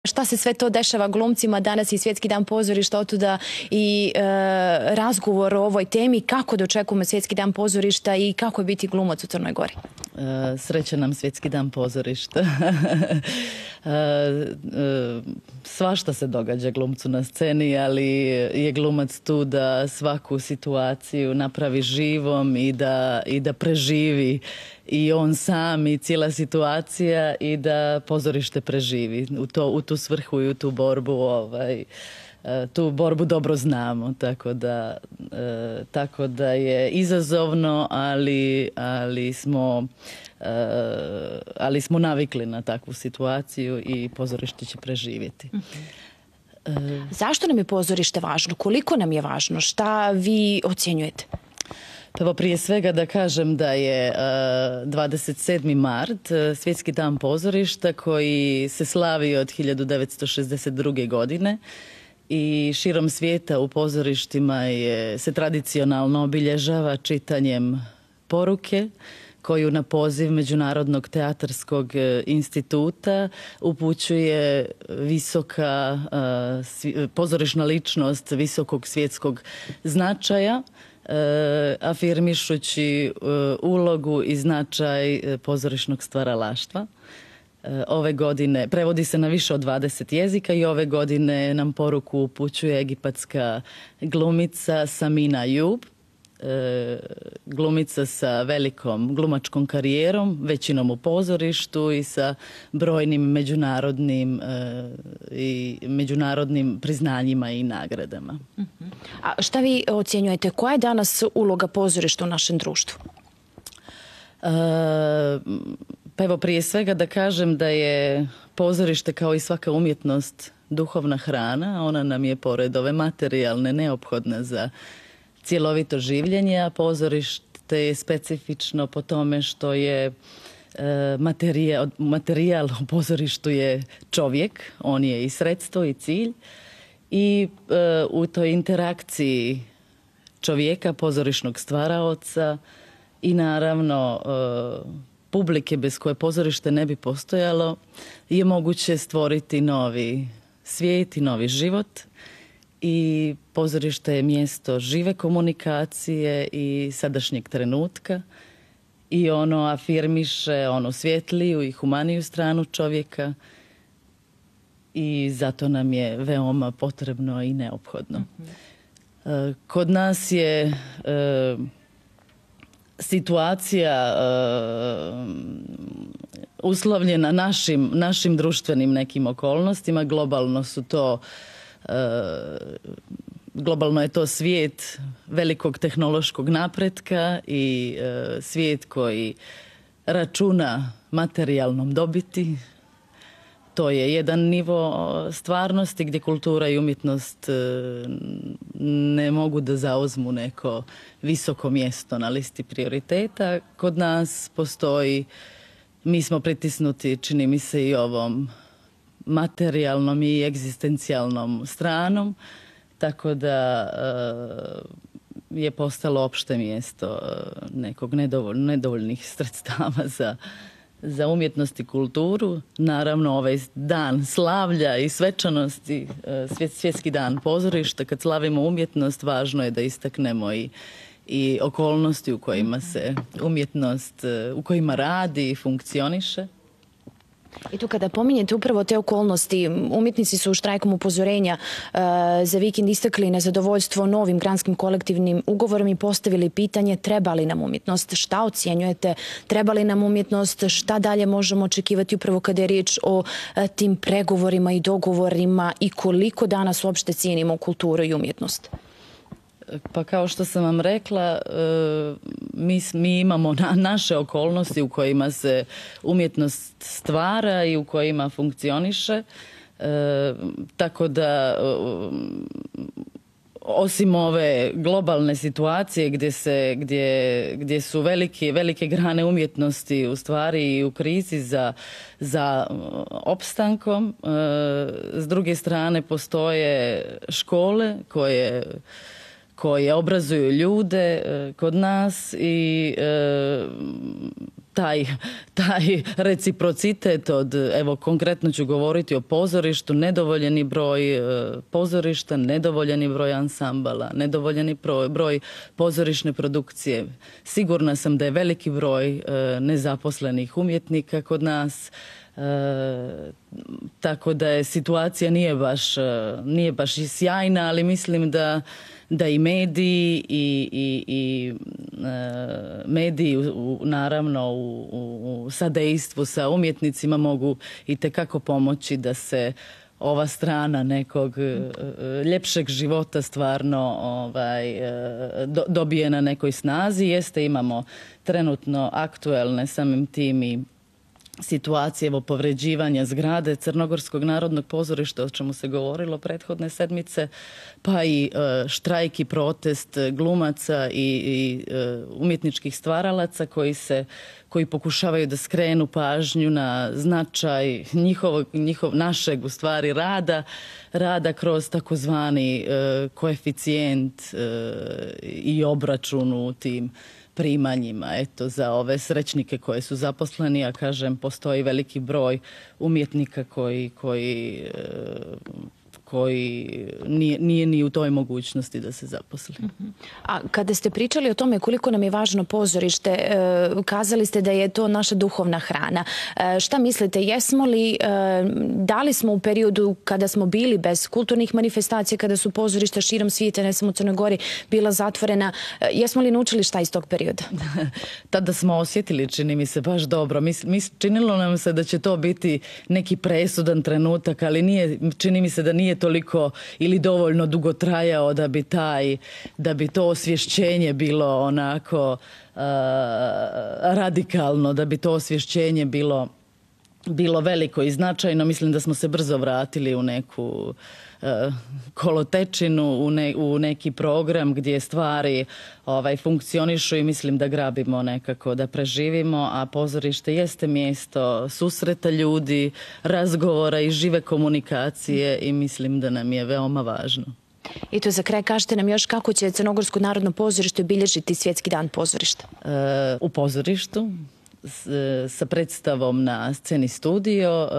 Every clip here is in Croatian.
Šta se sve to dešava glumcima danas i Svjetski dan pozorišta, otuda i razgovor o ovoj temi, kako dočekujemo Svjetski dan pozorišta i kako je biti glumac u Crnoj Gori? Srećan nam Svjetski dan pozorišta. Svašta se događa glumcu na sceni, ali je glumac tu da svaku situaciju napravi živom i da preživi i on sam i cijela situacija i da pozorište preživi. U tu svrhu i u tu borbu tu borbu dobro znamo, tako da je izazovno, ali smo navikli na takvu situaciju i pozorište će preživjeti. Zašto nam je pozorište važno? Koliko nam je važno? Šta vi ocjenjujete? Evo, prije svega da kažem da je 27. mart Svjetski dan pozorišta koji se slavi od 1962. godine i širom svijeta u pozorištima se tradicionalno obilježava čitanjem poruke koju na poziv Međunarodnog teatarskog instituta upućuje visoka pozorišna ličnost visokog svjetskog značaja, afirmišući ulogu i značaj pozorišnog stvaralaštva. Ove godine prevodi se na više od 20 jezika i ove godine nam poruku upućuje egipatska glumica Samina Ayub, glumica sa velikom glumačkom karijerom, većinom u pozorištu i sa brojnim međunarodnim priznanjima i nagradama. A šta vi ocjenjujete? Koja je danas uloga pozorišta u našem društvu? Pa evo, prije svega da kažem da je pozorište kao i svaka umjetnost duhovna hrana. Ona nam je pored ove materijalne neophodna za cjelovito življenje, a pozorište je specifično po tome što je materijal u pozorištu je čovjek, on je i sredstvo i cilj i u toj interakciji čovjeka, pozorišnog stvaraoca i naravno publike bez koje pozorište ne bi postojalo je moguće stvoriti novi svijet i novi život. I pozorište je mjesto žive komunikacije i sadašnjeg trenutka i ono afirmiše onu svjetliju i humaniju stranu čovjeka i zato nam je veoma potrebno i neophodno. Kod nas je situacija uslovljena našim društvenim nekim okolnostima. Globalno je to svijet velikog tehnološkog napretka i svijet koji računa materijalnom dobiti. To je jedan nivo stvarnosti gdje kultura i umjetnost ne mogu da zauzmu neko visoko mjesto na listi prioriteta. Kod nas postoji, mi smo pritisnuti, čini mi se, i ovom materijalnom i egzistencijalnom stranom, tako da je postalo opšte mjesto nekog nedovoljnih sredstava za umjetnost i kulturu. Naravno, ovaj dan slavlja i svečanosti, Svjetski dan pozorišta, kad slavimo umjetnost, važno je da istaknemo i okolnosti u kojima se umjetnost, u kojima radi i funkcioniše. I tu kada pominjete upravo te okolnosti, umjetnici su štrajkom upozorenja za vikend istakli nezadovoljstvo novim granskim kolektivnim ugovorom i postavili pitanje treba li nam umjetnost. Šta ocjenjujete? Treba li nam umjetnost? Šta dalje možemo očekivati upravo kada je riječ o tim pregovorima i dogovorima i koliko danas uopšte cijenimo kulturu i umjetnost? Pa kao što sam vam rekla, mi imamo naše okolnosti u kojima se umjetnost stvara i u kojima funkcioniše. Tako da, osim ove globalne situacije gdje su velike grane umjetnosti u stvari i u krizi za opstankom, s druge strane postoje škole koje obrazuju ljude kod nas i taj reciprocitet od, evo konkretno ću govoriti o pozorištu, nedovoljeni broj pozorišta, nedovoljeni broj ansambala, nedovoljeni broj pozorišne produkcije. Sigurna sam da je veliki broj nezaposlenih umjetnika kod nas, tako da je situacija nije baš i sjajna, ali mislim da i mediji i mediji naravno u sadejstvu sa umjetnicima mogu itekako pomoći da se ova strana nekog ljepšeg života stvarno dobije na nekoj snazi. Jeste, imamo trenutno aktuelne samim tim i situacije, evo, povređivanja zgrade Crnogorskog narodnog pozorišta, o čemu se govorilo prethodne sedmice, pa i štrajk i protest glumaca i umjetničkih stvaralaca koji pokušavaju da skrenu pažnju na značaj našeg u stvari rada kroz takozvani koeficijent i obračun u tim primanjima. Eto, za ove srećnike koji su zaposleni, a kažem, postoji veliki broj umjetnika koji nije ni u toj mogućnosti da se zaposli. A kada ste pričali o tome koliko nam je važno pozorište, kazali ste da je to naša duhovna hrana. Šta mislite, da li smo u periodu kada smo bili bez kulturnih manifestacija, kada su pozorišta širom svijeta, ne samo u Crnoj Gori, bila zatvorena, jesmo li naučili šta iz tog perioda? Tada smo osjetili, čini mi se, baš dobro. Činilo nam se da će to biti neki presudan trenutak, ali čini mi se da nije toliko ili dovoljno dugo trajao da bi to osvješćenje bilo onako radikalno, da bi to osvješćenje bilo veliko i značajno. Mislim da smo se brzo vratili u neku kolotečinu, u neki program gdje stvari funkcionišu i mislim da grabimo nekako, da preživimo, a pozorište jeste mjesto susreta ljudi, razgovora i žive komunikacije i mislim da nam je veoma važno. I to za kraj kažete nam još kako će Crnogorsko narodno pozorište obilježiti Svjetski dan pozorišta? U pozorištu sa predstavom na sceni Studio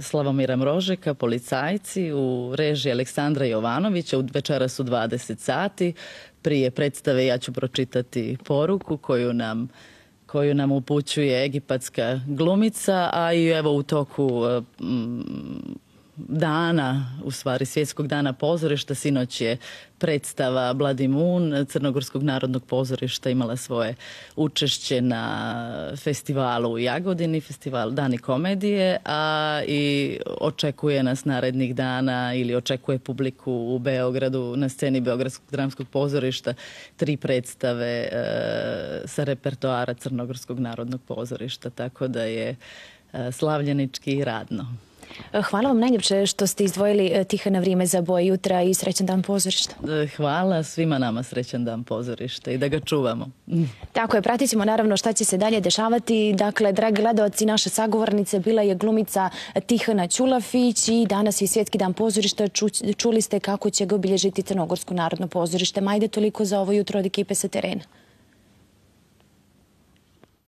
Slavomira Mrožeka, Policajci, u režiji Aleksandra Jovanovića, večeras u 20 sati. Prije predstave ja ću pročitati poruku koju nam upućuje egipatska glumica, a i evo u toku dana, u stvari Svjetskog dana pozorišta, sinoć je predstava Bloody Moon Crnogorskog narodnog pozorišta imala svoje učešće na festivalu u Jagodini, festival Dani komedije, a i očekuje nas narednih dana ili očekuje publiku u Beogradu na sceni Beogradskog dramskog pozorišta 3 predstave sa repertoara Crnogorskog narodnog pozorišta, tako da je slavljenički i radno. Hvala vam najljepše što ste izdvojili Tihana vrijeme za boje jutra i srećan dan pozorišta. Hvala svima nama, srećan dan pozorišta i da ga čuvamo. Tako je, pratit ćemo naravno šta će se dalje dešavati. Dakle, dragi gledalci, naša sagovornica bila je glumica Tihana Ćulafić i danas je Svjetski dan pozorišta. Čuli ste kako će ga obilježiti Crnogorsko narodno pozorište. Majde, toliko za ovo jutro od ekipe sa terena.